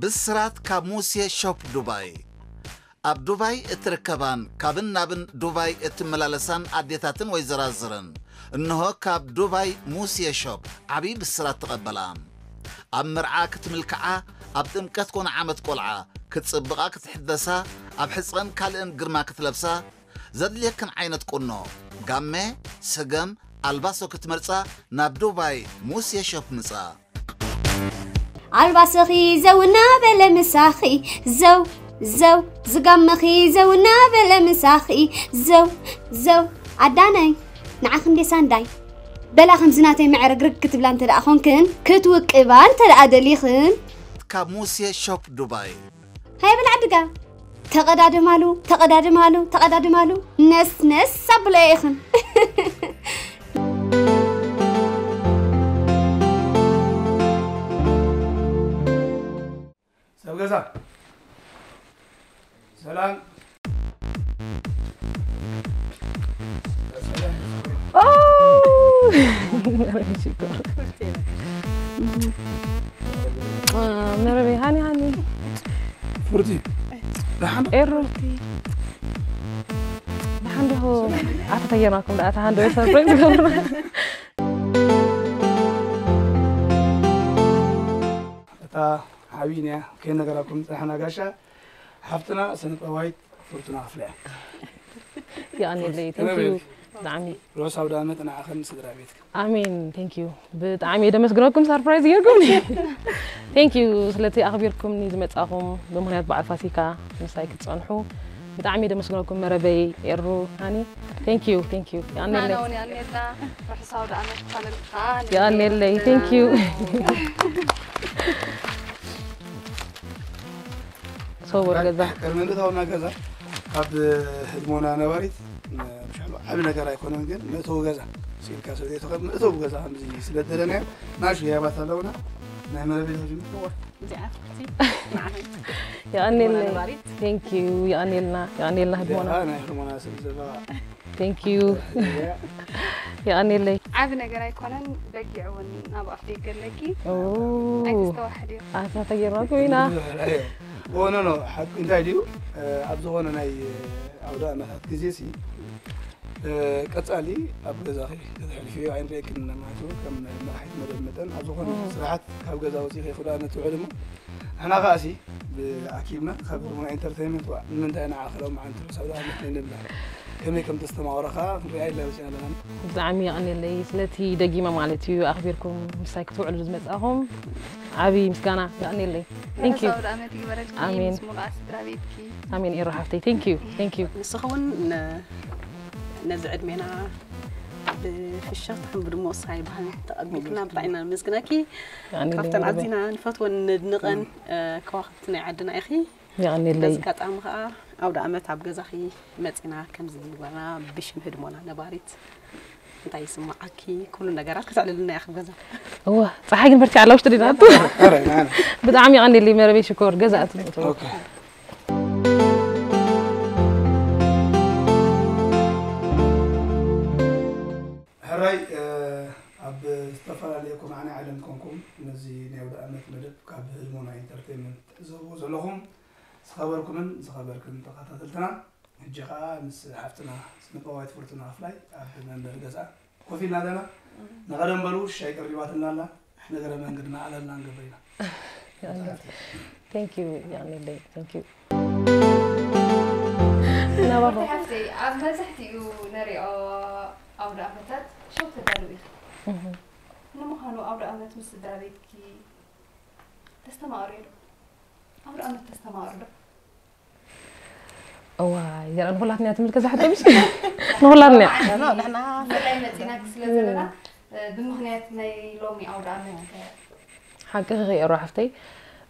ብስራት ካብ ሙሴ ሾፕ ዱባይ። ኣብ ዱባይ እትርከባን ካብን ናብን ዱባይ እትመላለሳን ኣዴታትን ወይዘራዝርን፣ እንሆ ካብ ዱባይ ሙሴ ሾፕ ዓብዪ ብስራት ተቐበላ። ኣብ መርዓ ክትምልክዓ፣ ኣብ ጥምቀት ኮነ ዓመት ቆልዓ ክትጽብቓ ክትሕደሳ፣ ኣብ ሕጽረን ካልእን ግርማ ክትለብሳ፣ ዘድልየክን ዓይነት ቁኖ፣ ጋመ፣ ሰገም፣ ኣልባሶ ክትመርጻ ናብ ዱባይ ሙሴ ሾፕ ምጻ። ኣልባስኺ ዘው እናበለ ምሳኺ ዘው ዘው ዝጋመኺ ዘው እናበለ ምሳኺ ዘው ዘው ኣዳነይ ንዓኺ እንዴ ሳንዳይ በላ ከምዚ ናተይ መዕረግርግ ክትብላ እንተ ደኣ ኾንክን ክትውቅባ እንተ ደኣ ደሊኽን ካብ ሙሴ ሾፕ ዱባይ። ሃይ በላ ዓድጋ ተቐዳድማሉ ተቐዳድማሉ ተቐዳድማሉ ነስነስ ኣብለዮ ኢኽን። ሰብ ገዛ ሰላም። መረበይ ሃኒ ሃኒ ፍርቲ ደሓን ኤሩ ደሓን ዲኹ ኣታ ተየማኩም ደኣ ኣታ ሃንዶ ሰርፕራይዝ ገብሩ እታ ሓቢንያ ከይነገራኩም ዝጸናሕና ጋሻ ሓፍትና ስነጥበባዊት ፍርቱና ክፍለ እያ። የቐንየለይ thank you ብጣዕሚ ርሑስ ኣውደ ዓመት ንዓኽን ስድራ ቤትክን። ኣሜን thank you ብጣዕሚ እየ ደመስግነኩም ሰርፕራይዝ ጌርኩምኒ thank you ስለቲ ኣኽቢርኩምኒ ዝመጻኹም ብምኽንያት በዓል ፋሲካ ምሳይ ክትጸንሑ ብጣዕሚ እየ ደመስግነኩም መረበይ ኤሩ ሃኒ thank you thank you የቐንየለይ ናናውን ያኔላ ርሑስ ኣውደ ዓመት ቻነልካ የቐንየለይ thank you ሰውር ገዛ ቅድሚ ምእታውና ገዛ ካብ ህድሞና ነባሪት ምሻሉ ዓብ ነገር ኣይኮነን ግን መእተዊ ገዛ ሲልካ ስለ ዘይትኽእል መእተዊ ገዛ ከምዚ ስለ ደለናዮ ናሹ ያባት ኣለውና ናይ መረቤት ጅምዋ እዚኣ ፍርቲ የቐንየለይ ነባሪት thank you የቐንየልና የቐንየልና ህድሞና ናይ ህድሞና ስለ ዘለዋ thank you የቐንየለይ ዓብ ነገር ኣይኮነን በጊዕ እውን ኣብ ኣፍ ደገ ኣለኪ ኦ ኣይተስተዋሕድ እዩ ኣታ ተጌርናኩም ኢና ኖ ኖ ሓቂ እንታይ ድዩ ኣብ ዝኾነ ናይ ኣውደ ዓመታት ግዜ ሲ ቀጻሊ ኣብ ገዛኺ ከተሕልፍዮ ኣይንርእየክን ማለት እዩ ከም መራሒት መደብ መጠን ኣብ ዝኾነ ስራሓት ካብ ገዛ ወፂኺ ክዳነ ትውዕል እሞ ንሕና ከኣሲ ብኣኪብና ካብ ህድሞና ኢንተርቴይንመንት ዋ ንምንታይ ንዓኸሎም ዓንትሩ ሰብ ዳኣመት ንብላ ከመይ ከም ተስተማቕረኻ ክንሪኣ ኢልና መፂና ኣለና ብጣዕሚ የቐንየለይ ስለቲ ደጊመ ማለት እዩ ኣኽቢርኩም ምሳይ ክትውዕሉ ዝመጻኹም ዓብዪ ምስጋና የቐንየለይ thank you ርሑስ ኣውደ ዓመት ይግበረልኪ ኣሜን። ምስ ሙሉኣ ስድራ ቤትኪ ኣሜን ኤሮ ሓፍተይ thank you thank you ንስኺ እውን ን- ነዚ ዕድሜና ብፍሽኽታን ብድሙቕ ስራይ ባህል ተቐቢልክና ብጣዕሚ ኢና ነመስግነኪ የቐንየለይ ካብተን መረበይ ኣዚና ንፈትወን ነድንቐን እ፣ ከዋኽብቲ ናይ ዓድና ኢኺ የቐንየለይ በዚ ኣጋጣሚ ከዓ ኣውደ ዓመት ኣብ ገዛኺ መፂና ከምዚ ንግበርና ብሽም ህድሞና ነባሪት እንታይ ይስማዓኪ ኩሉ ነገራት ክተዕልልና ኢኺ ገዛ እወ ፀሓይ ግን በርቲዓ ኣላ ውሽጢ ዲና ኧረ፣ ና፣ ና። ብጣዕሚ የቐንየለይ መረበይ ሽኮር ገዛ ኣትምእተወ ኦኬ። ሕራይ እ፣ ኣብ ዝተፈላለየ ኮማዕናይ ዓለም ኮንኩም ነዚ ናይ ኣውደ ዓመት መደብ ካብ ህድሞና ኢንተርቴይንመንት ትዕዘብዎ ዘለኹም ዝኸበርኩምን ዝኸበርክን ተኸታተልትና ሕጂ ከዓ ምስ ሓፍትና ስነጥበባዊት ፍርቱና ክፍላይ ኣብ መንበሪ ገዝኣ ኮፍ ኢልና ኣለና። ንቐደም በሉ ሻይ ቀሪባትና ኣላ። ንሕና ገረ መንገድና ኣለና ንገብር ኢና። thank you የቐንየለይ thank you ናባኹ ሓፍተይ ኣብ መብዛሕትኡ ነሪኦ ኣውደ ዓመታት ሸው ተዳልው ኢኺ ንምዃኑ ኣውደ ዓመት ምስ ስድራ ቤትኪ ተስተማቕሪ ዶ ኣውደ ዓመት ተስተማቕሪ ዶ እዋይ ዘርኣ ንኹላትና እያ ትምልከት ዝሓቶ ምሽ ንኹላትና እያ ንሕና ብፍላይ መፂናኪ ስለ ዘለና እ፣ ብምኽንያት ናይ ሎሚ ኣውደ ዓመት ሓቂ ክኽየሮ ሓፍተይ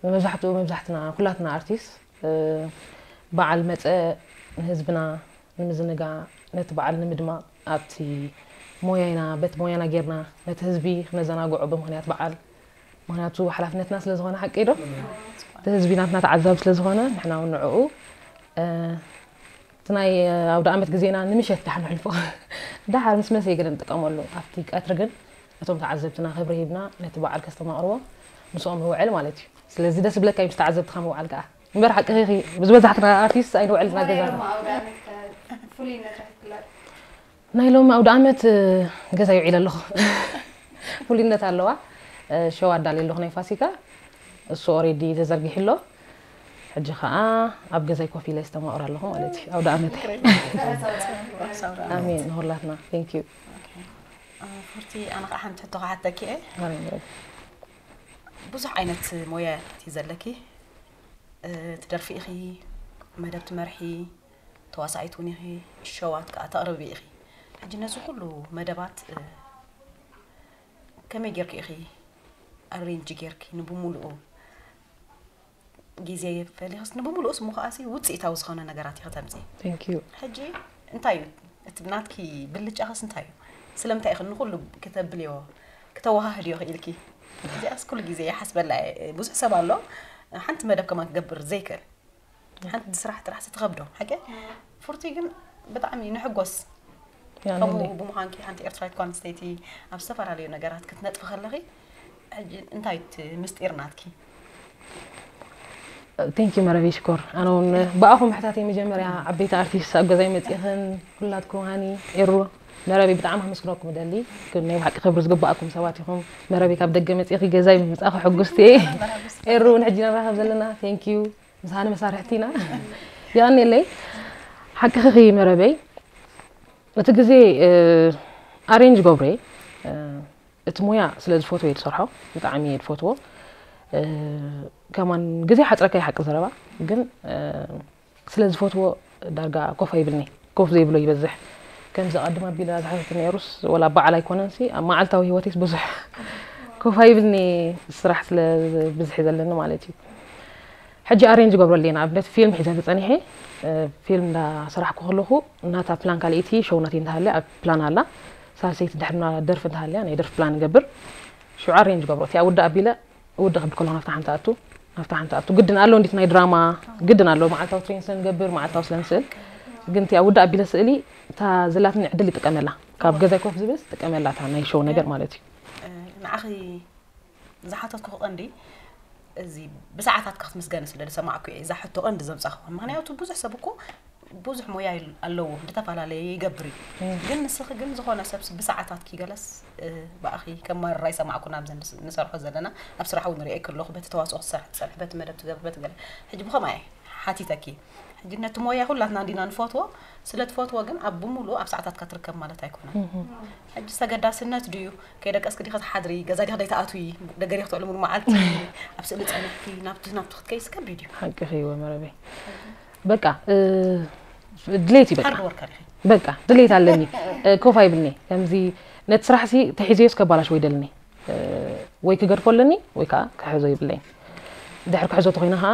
መብዛሕትኡ መብዛሕትና ኩላትና ኣርቲስት እ፣ በዓል መፀ ንህዝብና ንምዝንጋዕ ነቲ በዓል ንምድማቕ ኣብቲ ሞያና በቲ ሞያና ጌርና ነቲ ህዝቢ ክነዘናግዖ ብምኽንያት በዓል ምኽንያቱ ሓላፍነትና ስለ ዝኾነ ሓቂ ዶ እቲ ህዝቢ ናትና ተዓዛቢ ስለ ዝኾነ ንሕና እውን ንዕኡ እ፣ እቲ ናይ ኣውደ ዓመት ግዜና ንምሸት ዳሓ ንሕልፎ ዳሓር ምስ መሰየ ገለ ንጥቀመሉ ኣብቲ ቀትሪ ግን እቶም ተዓዘብትና ክብሪ ሂብና ነቲ በዓል ከስተማቕርዎ ምስኦም ንውዕል ማለት እዩ ስለዚ ደስ ዝብለካ እዩ ምስ ተዓዘብትኻ ምውዓል ከዓ። እምበር ሓቅኺ ኢኺ፣ ብዝበዛሕትና ኣርቲስት ኣይንውዕል ኢና ገዛና። ኣውደ ዓመት ፍሉይነት ይፍለጥ። ናይ ሎሚ ኣውደ ዓመት፣ እ፣ ገዛይ ውዒለ ኣለኹ። ፍሉይነት ኣለዋ። እ፣ ሸው ኣዳልየ ኣለኹ ናይ ፋሲካ። እሱ ኦሬዲ ተዘርጊሑ ኣሎ። ሕጂ ከዓ ኣብ ገዛይ ኮፍ ኢለ የስተማቕር ኣለኹ ማለት እዩ። ኣውደ ዓመት። ኣሜን ንኹላትና። Thank you። ፉርቲ፣ ኣነ ከዓ ሓንቲ ሕቶ ክሓተኪ እየ። ማርያም ረቢ። ብዙሕ ዓይነት ሞያ እቲ ዘለኪ፣ እ፣ ትደርፊ ኢኺ፣ መደብ ትመርሒ፣ ተዋሳኢት እውን ኢኺ፣ ሸዋት ከዓ ተቕርቢ ኢኺ። ሕጂ ነዚ ኩሉ መደባት፣ እ፣ ከመይ ጌርኪ ኢኺ ኣሬንጅ ጌርኪ ንብሙሉኡ ግዜ ፈሊኽስ ንብሙሉኡስ ምዃኣሲ ውፅኢታዊ ዝኾነ ነገራት ኢኺ ተምፅኢ። Thank you። ሕጂ እንታይ እዩ እቲ ናትኪ ብልጫኽስ እንታይ እዩ? ስለምንታይ ኢኺ ንኹሉ ክተብልዮ ክተወሃህድዮ ክኢልኪ? እዚኣስ ኩሉ ግዜ ይሓስበላ እየ። ብዙሕ ሰብ ኣሎ ሓንቲ መደብ ከማን ክገብር ዘይክእል፣ ሓንቲ ስራሕ ጥራሕ ትኸብዶ ሓቂ። ፉርቲ ግን ብጣዕሚ ንሕጎስ ከምኡ ብምዃንኪ ሓንቲ ኤርትራዊት ጓል ኣንስተይቲ ኣብ ዝተፈላለዩ ነገራት ክትነጥፊ ከለኺ ሕጂ እንታይ እቲ ምስጢር ናትኪ? Thank you መረቤ ሽኮር። ኣነ እውን ብኣኹም ምሕታተይ መጀመርያ ዓበይቲ ኣርቲስት ኣብ ገዛይ መፂእኽን ኩላትኩም ሃኒ ኤሩ መረቤ ብጣዕሚ ኣመስግነኩም እደሊ። ግን ናይ ብሓቂ ክብሪ ዝግባኣኩም ሰባት ኢኹም። መረቤ ካብ ደገ መፂእኺ ገዛይ ብምምፃእኺ ሕጉስቲ እየ። ኤሩ እውን ሕጂ ንራኸብ ዘለና። Thank you። ምስ ሃኒ መሳርሕቲ ኢና። የቐንየለይ። ሓቅኺ መረበይ እቲ ግዜ ኣሬንጅ ገብሬ እቲ ሞያ ስለ ዝፈትዎ እየ ዝሰርሖ። ብጣዕሚ እየ ዝፈትዎ። ከማን ግዜ ሓፅረካ እዩ ሓቂ ዘረባ። ግን ስለ ዝፈትዎ ዳርጋ ኮፍ ኣይብልኒ። ኮፍ ዘይብሎ ይበዝሕ። ከምዚ ቀድም ኣቢላ ዝሓተት ነይሩስ ወላ በዓል ኣይኮነንሲ ኣብ መዓልታዊ ህይወቴስ ብዙሕ ኮፍ ኣይብልኒ። ስራሕ ስለ ብዝሒ ዘለኒ ማለት እዩ። ሕጂ ኣሬንጅ ገብረለይ ንኣብነት ፊልም ሒዘ ተፀኒሐ። ፊልም እንዳሰራሕኩ ከለኹ እናታ ፕላን ካልኣይቲ ሸው ናተይ እንተሃለ ኣብ ፕላን ኣላ። ሳልሰይቲ ድሕርና ደርፊ እንተሃልያ ናይ ደርፊ ፕላን ንገብር። ሽዑ ኣሬንጅ ገብሮ እቲኣ ውዳእ ኣቢለ ውድእ ክብል ከለኹ ናብታ ሓንቲ ኣቱ ናብታ ሓንቲ ኣቱ ግድን ኣሎ እንዲት ናይ ድራማ ግድን ኣሎ። መዓልታዊ ትሬን ስለ ንገብር መዓልታዊ ስለ ንስእል ግን እቲኣ ውዳእ ኣቢለ ስእሊ እታ ዘላትኒ ዕድል ይጥቀመላ። ካብ ገዛይ ኮፍ ዝብልስ ይጥቀመላ እታ ናይ ሸው ነገር ማለት እዩ። ንዓኺ ዝሓተትኩ ቀንዲ እዚ ብሰዓታት ክትምስገኒ ስለ ዝሰማዕኩ እየ እዛ ሕቶ ቀንዲ ዘምፃኹ። ምክንያቱ ብዙሕ ሰብ እኮ ብዙሕ ሞያ ኣለዎ፣ ዝተፈላለየ ይገብር እዩ። ግን ንስኺ ግን ዝኾነ ሰብ ብሰዓታት ኪገለስ ብኣኺ ከም ማርራ ይሰማዕኩ። ናብዚ ንሰርሖ ዘለና ኣብ ስራሕ እውን ሪኤ ከለኹ በቲ ተዋፅኦ ክትሰርሒ ትፀንሒ፣ በቲ መደብ ትገብሪ፣ በቲ ገለ። ሕጂ ብኸምኣ እየ ሓቲተኪ። ሕጂ ነቲ ሞያ ኩላትና እንዲና ንፈትዎ፣ ስለ ትፈትዎ ግን ኣብ ብምሉኡ ኣብ ሰዓታትካ ትርከብ ማለት ኣይኮነን። ሕጂ ተገዳስነት ድዩ? ከይደቀስኪ ዲኺ ትሓድሪ? ገዛ ዲኺ ደይትኣትዊ? ደገ ዲኺ ትውዕሊ ሙሉ መዓልቲ? ኣብ ስእሊ ጸኒሕኪ ናብቲ ናብቲ ክትከይሲ ከቢድ እዩ። ሓቅኺ እወ መረበይ። በቃ ድሌት እዩ በቃ። ሃርድ ወርከር ኢኺ። በቃ ድሌት ኣለኒ። ኮፍ ኣይብልኒ። ከምዚ ነቲ ስራሕሲ ተሒዘዮስ ከባላሽ ወይ ደልኒ። ወይ ክገድፎ ኣለኒ ወይ ከዓ ክሕዞ ይብለይን። ድሕር ክሕዞ ተኮይነ ከዓ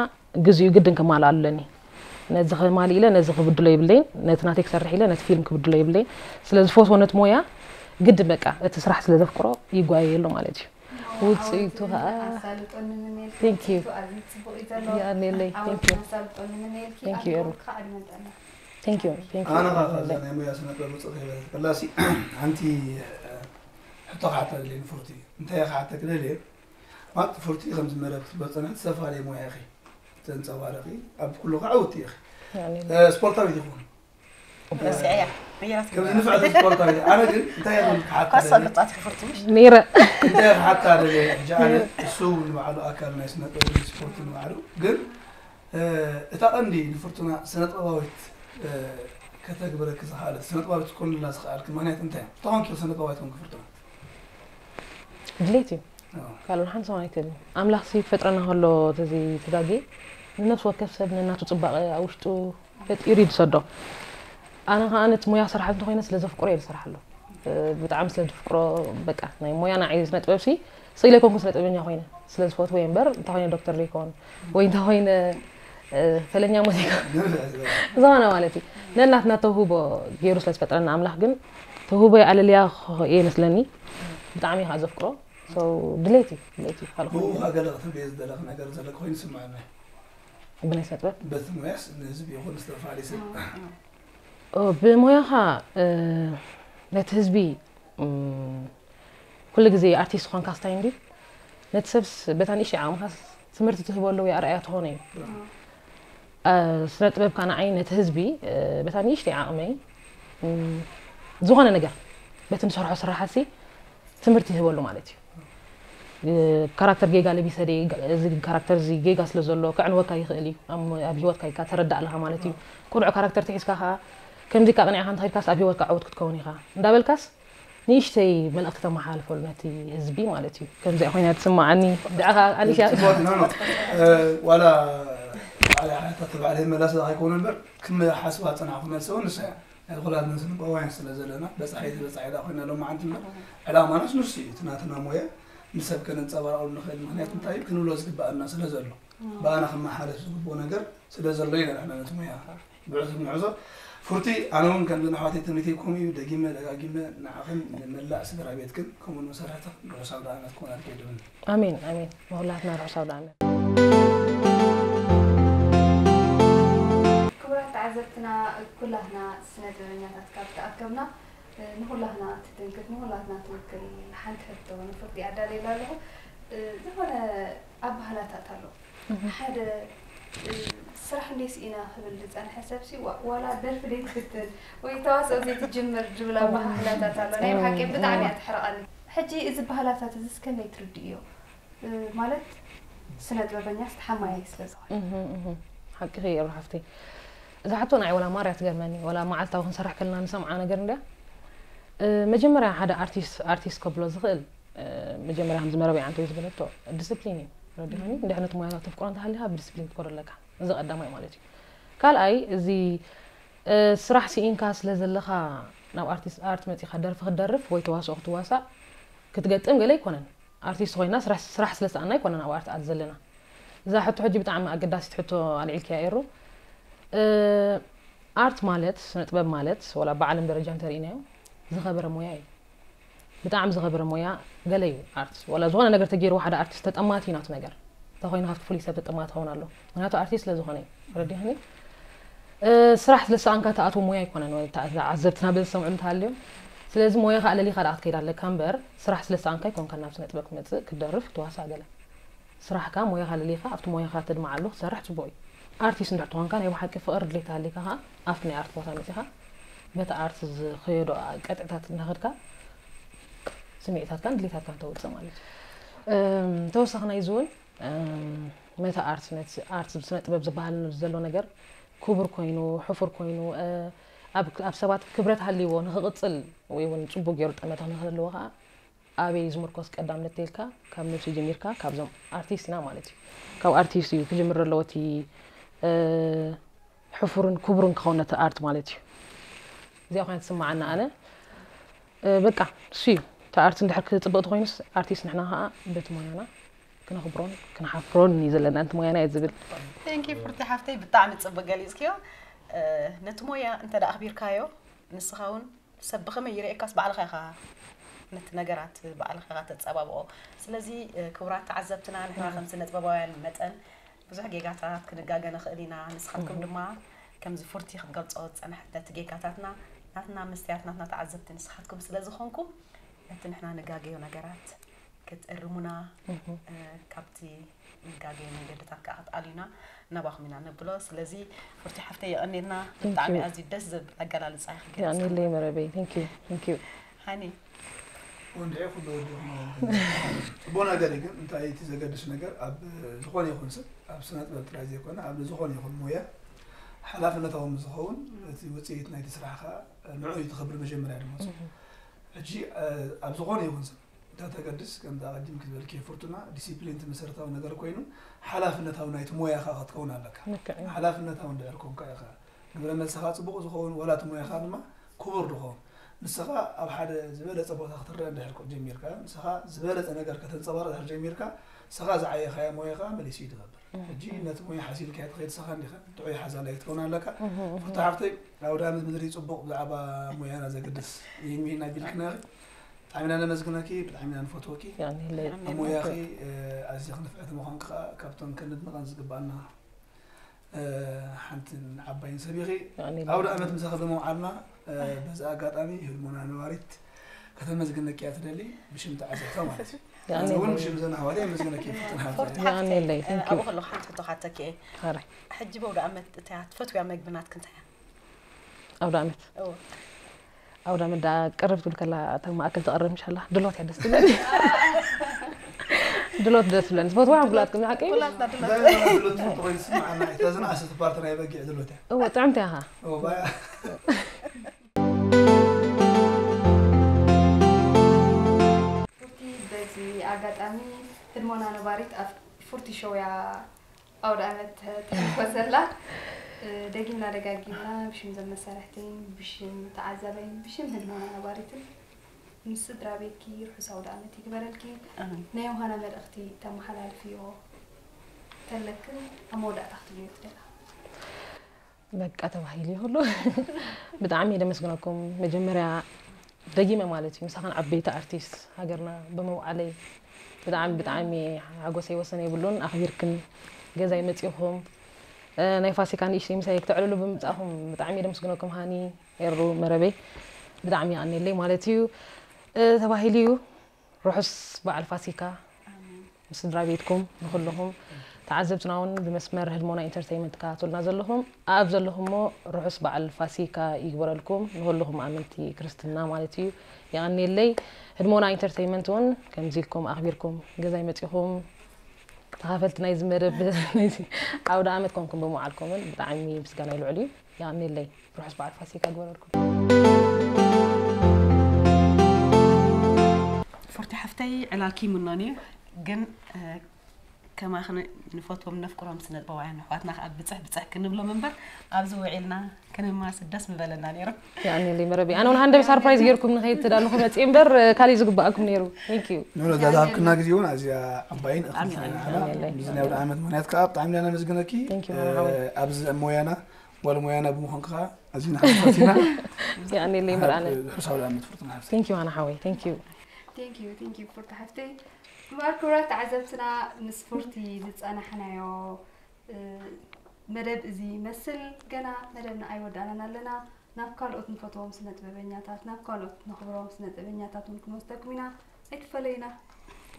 ግዜኡ ግድን ከማልኣሉ ኣለኒ። ነዚ ከማልእ ኢለ ነዚ ክብድሎ ይብለይን፣ ነቲ ናተይ ክሰርሕ ኢለ ነቲ ፊልም ክብድሎ ይብለይን። ስለ ዝፈትዎ ነቲ ሞያ ግድን በቃ እቲ ስራሕ ስለ ዘፍቅሮ ይጓየየሉ ማለት እዩ። ውፅኢቱ ከዓ ኣሳልጦኒ ምን ኢልኪ Thank you። ውፅኢቱ ኣዝዩ ፅቡቅ እዩ ዘሎ። የቀንየለይ። Thank you። ኣሳልጦኒ ምን ኢልኪ Thank you፣ ኤሩ። ከዓ ዕድመ ጥዕና። Thank you። Thank you። ኣነ ኻብ ናይ ሞያ ስነ ጥበብ ውፅእ ከይበለ ከላሲ ሓንቲ ሕቶ ክሓታ ደልየ ንፉርቲ እንታይ ክሓተክ ደልየ ማለት ፉርቲ ከምዚ መደብ ክትበፀና ዝተፈላለየ ሞያ ኢኺ ተንፀባረቂ ኣብ ኩሉ ከዓ ውቲ ኢኺ ስፖርታዊት ይኹን ረሲዐያ። መየራት ከምዚ ንፍዕቲ ስፖርታዊት ኣነ ግን እንታይ ይብል ክሓታ ኳሳ ደልየ ብጣት ይኽፍርቲ ምሽ? ነይረ። እንታይ ክሓታ ደልየ ሕጂ ኣነ እሱ ንባዕሉ ኣካል ናይ ስነ ጥበብ ስፖርት ንባዕሉ ግን እታ ቀንዲ ንፍርቱና ስነ ጥበባዊት ከተግብረኪ ዝኽኣለት ስነ ጥበባዊት ትኮንልና ዝኽኣልኪ ምክንያት እንታይ እዩ? ተኾንኪ ስነ ጥበባዊት ኮንኪ ፍርቱና? ድሌት እዩ። ካልኦን ሓንሳውን ኣይትህልን። ኣምላኽ ሲ ክፈጥረና ከሎ ተዚ ተጋጌ ንነፍሲ ወከፍ ሰብ ነናቱ ጽባቐ ኣብ ውሽጡ ፈጢሩ እዩ ዝሰዶ። ኣነ ከኣ ነቲ ሞያ ክሰርሓሉ እንተኾይነ ስለ ዘፍቅሮ እየ ዝሰርሓሉ። ብጣዕሚ ስለ ዝፍቅሮ በቃ ናይ ሞያ ንዓይ ስነ ጥበብ ሲ ስኢለ ኣይኮንኩን ስነ ጥበበኛ ኮይነ ስለ ዝፈትዎ እየ እምበር እንታይ ኮይነ ዶክተር ዘይኮን ወይ እንታይ ኮይነ ፈለኛ ሙዚቃ ዝኾነ ማለት እዩ ነናትና ተውህቦ ገይሩ ስለ ዝፈጥረና ኣምላኽ ግን ተውህቦ ኣለልያ እየ መስለኒ ብጣዕሚ ከዓ ዘፍቅሮ ድሌት እዩ ድሌት እዩ ካልእ ብኡ ከዓ ገለ ክትብልዮ ዝደለኽ ነገር ዘሎ ኮይኑ ይስምዓኒ ብናይ ስነ ጥበብ በቲ ሙያስ ንህዝቢ ይኹን ዝተፈላለዩ ሰብ ብሞያኻ ነቲ ህዝቢ ኩሉ ግዜ ኣርቲስት ዝኾንካ ስታይ እንዲ ነቲ ሰብስ በታ ንእሽተይ ዓቕምኻ ትምህርቲ ትህበሉ ወይ ኣርኣያ ትኾኖ እዩ። ስነ ጥበብ ከዓ ንዓይ ነቲ ህዝቢ በታ ንእሽተይ ዓቕመይ ዝኾነ ነገር በቲ ንሰርሖ ስራሓሲ ትምህርቲ ይህበሉ ማለት እዩ። ካራክተር ጌጋ ለቢሰ ደ እዚ ካራክተር እዚ ጌጋ ስለ ዘሎ ክዕንወካ ይኽእል እዩ። ኣብ ህይወትካ ኢልካ ተረዳእ ኣለኻ ማለት እዩ። ቁኑዕ ካራክተር ተሒዝካ ከዓ ከምዚ ቃቕኒዕኻ እንተኸድካስ ኣብ ህይወትካ ዕውት ክትከውን ኢኻ እንዳበልካስ ንእሽተይ መልእኽቲ ተመሓላልፈሉ ነቲ ህዝቢ ማለት እዩ። ከምዚኣ ኮይና ትስምዓኒ። ድኣ ኸዓ ኣሊሻ ዋላ ባዕላ ሓታ ተባዕለ መላስ ኣይኮነ እምበር ክመሓስባ ዝጸናሕኩ መልሲ እውን ንሳ እያ። ናይ ኩላትና ስንባውያን ስለ ዘለና በጻሒት በጻሒት ኮይና ሎማዓንቲ እምበር ዕላማናስ ንሱ እዩ። እቲ ናትና ሞያ ንሰብ ከነንጸባርቐሉ ንኽእል ምኽንያት እንታይ እዩ ክንብሎ ዝግበኣና ስለ ዘሎ ብኣና ክመሓለፍ ዝግብኦ ነገር ስለ ዘሎ ኢና ንሕና ነቲ ሞያ ብዕቱብ ንሕዞ። ፉርቲ ኣነ እውን ከምዚ ንኣሕዋተይ ትምኒተይ ከምኡ እዩ ደጊመ ደጋጊመ ንዓኽን ንመላእ ስድራ ቤትክን ከምኡ ንመሳርሕትኽን ርሑስ ኣውደኣመት ክኾነልኪ እየ ድምነ። ኣሜን ኣሜን ንኹላትና ርሑስ ኣውደኣመት። ክቡራት ተዓዘብትና ኩላትና ስነ ጥበበኛታት ካብ ተኣከብና ንኹላትና ትትንክፍ ንኹላትና ትውክል ሓንቲ ሕቶ ንፉርቲ ኣዳልየላ ኣለኹ። ዝኾነ ኣባህላታት ኣሎ ሓደ ስራሕ እንዴ ስኢና ክብል ዝፀንሐ ሰብሲ ዋላ ደርፊ ደይ ትፍትን ወይ ተዋስኦ ዘይትጅምር ዝብል ኣባህላታት ኣሎ። ናይ ብሓቂ ብጣዕሚ እያ ትሕርቐኒ። ሕጂ እዚ ባህላታት እዚ እስከመይ ትርድእዮ? ማለት ስነ ጥበበኛስ ተሓማያይ ስለ ዝኾነ። ሓቅኺ እየ ሓፍተይ። እዛ ሕቶ ንዓይ ወላ ማርያ ትገርመኒ ወላ መዓልታዊ ክንሰርሕ ከለና ንሰምዓ ነገር እንድያ። መጀመርያ ሓደ ኣርቲስት ኣርቲስት ከብሎ ዝኽእል መጀመርያ ከምዚ መረብ ኣንተ ዝበለቶ ዲስፕሊን እዩ ረዲኒ እንድሕነት ሞያታት ተፍቅሮ እንተሃሊካ ብዲስፕሊን ክትኮዶ ኣለካ። እዚ ቀዳማይ ማለት እዩ። ካልኣይ እዚ ስራሕ ስኢንካ ስለ ዘለኻ ናብ ኣርቲስት ኣርት መፂኻ ደርፊ ክትደርፍ ወይ ተዋስኦ ክትዋሳእ ክትገጥም ገለ ኣይኮነን። ኣርቲስት ኮይና ስራሕ ስራሕ ስለ ሰኣና ኣይኮነን ኣብ ኣርት ኣት ዘለና። እዛ ሕቶ ሕጂ ብጣዕሚ ኣገዳሲት ሕቶ ኣልዒልክያ ኤሩ። ኣርት ማለት ስነ ጥበብ ማለት ወላ ብዓለም ደረጃ እንተርኢናዮ ዝኸበረ ሞያ እዩ። ብጣዕሚ ዝኸበረ ሞያ ገለ እዩ ኣርት ወላ ዝኾነ ነገር ተገይርዎ ሓደ ኣርቲስት ተጠማቲ እዩ ናቱ ነገር እንተኮይኑ ካብቲ ፍሉይ ሰብ ተጠማቲ ኸውን ኣሎ ምክንያቱ ኣርቲስት ስለ ዝኾነ እዩ ረዲኽኒ ስራሕ ስለ ሰኣንካ ተኣትዎ ሞያ ኣይኮነን ዓዘብትና በዚ ዝሰምዑ እንተሃልዮም ስለዚ ሞያኻ ኣለሊኻ ደኣ ክትከይድ ኣለካ እምበር ስራሕ ስለ ሰኣንካ ኣይኮንካ ናብ ስነ ጥበብ ክትመፅእ ክትደርፍ ክትዋሳእ ገለ ስራሕካ ሞያኻ ኣለሊኻ ኣብቲ ሞያኻ ተድምዓሉ ክትሰርሕ ፅቡቕ እዩ ኣርቲስት እንድሕር ተኾንካ ናይ ብሓቂ ፍቕሪ ድሌት ተሃሊካ ኸዓ ኣብቲ ናይ ኣርት ቦታ መፂኻ በቲ ኣርት ዝኸየዶ ቀጥዕታት እናኸድካ ስምዒታትካን ድሌታትካን ተውፅእ ማለት እዩ ተወሳኺ ናይዚ እውን መታ ኣርት ነቲ ኣርት ስነ ጥበብ ዝበሃል ዘሎ ነገር ክቡር ኮይኑ ሕፉር ኮይኑ ኣብ ሰባት ክብረት ሃልይዎ ንክቕፅል ወይ እውን ፅቡቅ ገይሩ ጠመተ ንክህልዎ ከዓ ኣበይ ዝምርኮስ ቀዳምነት ተልካ ካብ ነብሲ ጀሚርካ ካብዞም ኣርቲስት ኢና ማለት እዩ ካብ ኣርቲስት እዩ ክጅምር ኣለዎ እቲ ሕፉርን ክቡርን ክኸውን ነቲ ኣርት ማለት እዩ እዚኣ ኮይና ትስምዓና ኣነ በቃ እሱ እዩ እቲ ኣርት እንድሕር ክፅብቅ ተኮይኑስ ኣርቲስት ንሕና ከዓ በቲ ሞያና ክነኽብሮን ክነሓፍሮን እዩ ዘለና ነቲ ሞያና እየ ዝብል ቴንኪ ፍርቲ ሓፍተይ ብጣዕሚ ፅብቅ ገሊፅክዮ ነቲ ሞያ እንተ ኣኽቢርካዮ ንስኻ እውን ሰብ ብኸመይ ይርእየካስ ባዕልኻ ኢኻ ነቲ ነገራት ባዕልኻ ኢኻ ተፀባብቆ ስለዚ ክቡራት ተዓዘብትና ንሕና ከም ስነጥበባውያን መጠን ብዙሕ ጌጋታት ክንጋገ ንኽእል ኢና ንስኻትኩም ድማ ከምዚ ፉርቲ ክትገልፆ ዝፀናሕት ነቲ ጌጋታትና ናትና መስትያት ናትና ተዓዘብቲ ንስኻትኩም ስለ ዝኾንኩም ነቲ ንሕና ንጋገዮ ነገራት ክትእርሙና ካብቲ ንጋገዮ መንገድታት ከዓ ክትኣልዩና ናባኹም ኢና ነብሎ ስለዚ ፉርቲ ሓፍተይ የቐኔልና ብጣዕሚ ኣዝዩ ደስ ዝብል ኣገላልፃ ይኽገልፅለይ መረበይ thank you thank you ሃኒ ወንድዒ ኩሉ ወዲ ጽቡቅ ነገር ግን እንታይ እቲ ዘገድስ ነገር ኣብ ዝኾነ ይኹን ሰብ ኣብ ስነ ጥበብ ጥራይ ዘይኮነ ኣብ ዝኾነ ይኹን ሞያ ሓላፍነታዊ ዝኸውን እቲ ውፅኢት ናይቲ ስራሕካ ንዑ እዩ ትኸብር መጀመርያ ድማ ሕጂ ኣብ ዝኾነ ይኹን ሰብ እንተ ተገድስ ከምዚ ኣቐዲምኪ ዝበልክዮ ፍርቱና ዲሲፕሊን እቲ መሰረታዊ ነገር ኮይኑ ሓላፍነታዊ ናይቲ ሞያኻ ክትከውን ኣለካ። ሓላፍነታዊ እንድሕር ኮንካ ኢኻ ግብረ መልስኻ ጽቡቕ ዝኸውን ዋላ እቲ ሞያኻ ድማ ክቡር ዝኸውን ንስኻ ኣብ ሓደ ዝበለጸ ቦታ ክትረአ እንድሕር ጀሚርካ ንስኻ ዝበለጸ ነገር ከተንጸባርቕ እንድሕር ጀሚርካ ንስኻ ዝዓየኻዮ ሞያኻ መሊሱ እዩ ዝኸብር። ሕጂ ነቲ ሞያ ሓሲልካዮ ትኸይድ ንስኻ እንዲኻ ጥዑይ ሓዛላይ ክትከውን ኣለካ። ፍርቱና ሓፍተይ ኣውዳኣመት ምድሪ ጽቡቕ ብዛዕባ ሞያና ዘገድስ ይህልወና ኢልክና ኢኺ። ብጣዕሚ ኢና ነመስግነኪ ብጣዕሚ ኢና ንፈትወኪ ያኔ ኣሞያኺ ኣዝኺ ንፍዕቲ ምዃንኪ ከዓ ካብቶም ከነድንቐን ዝግባኣና ሓንትን ዓባይን ሰብ ኢኺ ኣውደ ኣመት ምሳኺ ብምውዓልና በዚ ኣጋጣሚ ህልሞና ነባሪት ከተመስግነኪ እያ ትደሊ ብሽም ተዓዘብታ ማለት እዩ ኣነ እውን ብሽም ዘን ኣሕዋተይ የመስግነኪ ፍትን ሓፍተይ። የቐንየለይ። Thank you። ኣብኡ ከለኹ ሓንቲ ሕቶ ክሓተኪ እየ። ሓራይ። ሕጂ ብኣውደ ዓመት እታ ትፈትውያ መግቢ ናትኪ እንታይ እያ? ኣውደ ዓመት። እዎ። ኣውደ ዓመት ደኣ ቅርብ ትብል ከላ እታ ማእከል ትቐርብ ምሻላ ድሎት እያ ደስ ትብለኒ። ድሎት ደስ ትብለኒ። ዝፈትዋ ሕጉላትኩም ሓቀይ? ኩላትና ድሎ እንታይ ትፈትዎ ይስምዓና። እታ ዝነኣሰት ፓርቲ ናይ በጊዕ ድሎት እያ። እዎ ጥዕምቲ ኢኻ። እዎ፣ ባያ። ፉርቲ በዚ ኣጋጣሚ ህድሞና ነባሪት ኣብ ፉርቲ ሾው እያ ኣውደ ዓመት ተሕልፎ ዘላ። ደጊምና ደጋጊምና ብሽም ዘመሳርሕተይን ብሽም ተዓዛበይን ብሽም ህድሞና ነባሪትን ምስ ስድራ ቤትኪ ርሑስ ኣውደ ዓመት ይግበረልኪ። ናይ ዮሃና መልእኽቲ ተመሓላልፍዮ ተለክን ኣብ መወዳእታ ክትብልዮ ትደላ። በቃ ተባሂሉ ይሁሉ። ብጣዕሚ ደመስግነኩም። መጀመርያ ደጊመ ማለት እዩ ምሳኻን ዓበይቲ ኣርቲስት ሃገርና ብምውዓለይ ብጣዕሚ ብጣዕሚ ሓጎሰይ ወሰን የብሉን። ኣኽቢርክን ገዛይ መፂኹም ናይ ፋሲካ ንእሽተይ ምሳይ ክተዕልሉ ብምምፃእኹም ብጣዕሚ ደመስግነኩም። ሃኒ ኤሩ መረበይ ብጣዕሚ ይኣነለይ ማለት እዩ። ተባሂሉ እዩ። ርሑስ በዓል ፋሲካ ምስ ስድራ ቤትኩም ንኩልኹም ተዓዘብትና እውን ብመስመር ህድሞና ኢንተርተይመንት ትከታተሉና ዘለኹም ኣብ ዘለኹሞ ርሑስ በዓል ፋሲካ ይግበረልኩም ንኩልኹም ኣመንቲ ክርስትና ማለት እዩ። የቐንየለይ። ህድሞና ኢንተርተይመንት እውን ከምዚ ኢልኩም ኣኽቢርኩም ገዛይ መፂኹም ተኻፈልቲ ናይዚ መደብ ናይዚ ኣውደ ዓመት ኮንኩም ብምውዓልኩምን ብጣዕሚ ምስጋና ይልዕል እዩ። የቐንየለይ። ርሑስ በዓል ፋሲካ ይግበረልኩም። ፉርቲ ሓፍተይ ዕላልኪ ይምኖን እዩ ግን ከማኽን ንፈትዎም ነፍቅሮም ስነጥበባውያን ኣሕዋትና ከዓ ብፅሕ ብፅሕ ክንብሎም እምበር ኣብዚ ውዒልና ክንማስ ደስ ምበለና ነይሩ። ያኔ መረቢ ኣነ እውን ሃንደብ ሳርፕራይዝ ገይርኩም ንኸይድ ትዳለኹ መፅእ እምበር ካሊእ ዝግባኣኩም ነይሩ። Thank you። ንብሎ ዛዛብክና ግዜ እውን ኣዝያ ዓባይን እኽልቲ ኣሜን። ኢና። ብዚ ናይ ኣውደ ዓመት ምክንያት ከዓ ብጣዕሚ ኢና ነመስግነኪ። Thank you፣ መርሓባ። ኣብዚ ሞያና ጓል ሞያና ብምዃንካ ከዓ ኣዝዩ ንሓጎስ ኢና። ያኔ መርኣነ። ርሑስ ኣውደ ዓመት ፍርቱና ሓፍቲ። Thank you ሃና ሓወይ። Thank you። Thank you thank you ፉርቲ ሓፍተይ። እምበኣር ክቡራት ተዓዘብትና ምስ ፉርቲ ዝፀናሕናዮ መደብ እዚ ይመስል። ገና መደብና ኣይወዳእናን ኣለና። ናብ ካልኦት ንፈትዎም ስነ ጥበበኛታት ናብ ካልኦት ነኽብሮም ስነ ጥበበኛታት እውን ክንወስደኩም ኢና። ኣይትፈለዩና።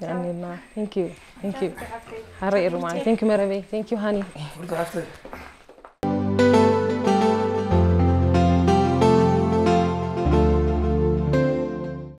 ያኔና። Thank you። Thank you። ፉርቲ ሓፍተይ። ሓረይ ሩማን። Thank you መረበይ። Thank you ሃኒ። ፍርቱ ሓፍተይ።